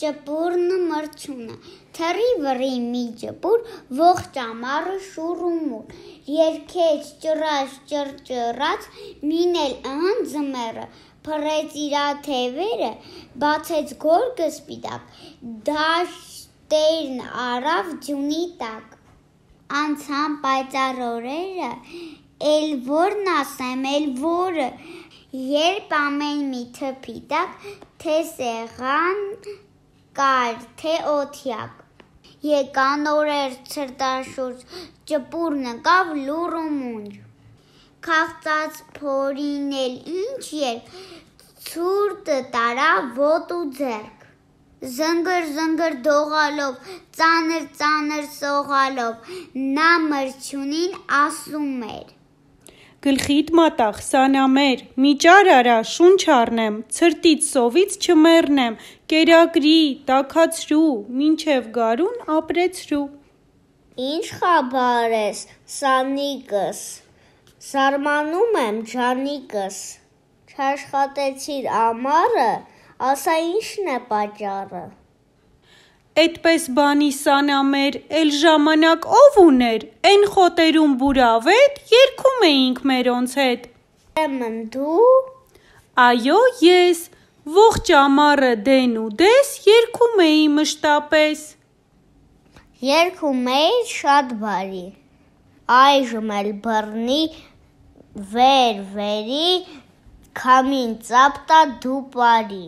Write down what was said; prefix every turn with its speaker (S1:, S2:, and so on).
S1: ճպուրն մրցունը, թռի վռի մի ճպուր, ողջ ամառը շուռ ու մուռ, երգեց ճռած ճռճռաց, մինել ըհն ձմեռը, փռեց իրա թևերը, բացեց գորգը սպիտակ, դաշտերն առավ ձյունի տակ, անցան պայծառ օրերը, էլ որն ասեմ, էլ որը, երբ ամեն մի թփի տակ, թե սեղան կար, թե օթյակ, եկան օրեր ցրտաշուրջ, ճպուրն ընկավ լուռ ու մունջ, քաղցած փորին էլ ինչ երկ, ցուրտը տարավ ոտ ու ձեռք, զնգր զնգր դողալով, ծանր ծանր սողալով, նա մրջյունին ասում էր.
S2: Գլխիդ մատաղ, սանամեր, մի ճար արա, շունչ առնեմ, ցրտից սովից չմեռնեմ, կերակրի, տաքացրու, մինչև գարուն ապրեցրու:
S3: Ինչ խաբար ես, սանիկս, զարմանում եմ ջանիկս, չաշխատեցիր ամառը, ասա ինչն է պատճառը:
S2: Էդպես բանի սանամեր, էլ ժամանակ ով ուներ, էն խոտերում բուրավետ, երգում էինք մերոնց հետ:
S3: Ուրեմն դու:
S2: Այո ես, ողջ ամառը դեն ու դես, երգում էի մշտապես:
S3: Երգում էիր շատ բարի, այժմ էլ բռնի, վեր վերի, քամին ծափ տա դու պարի: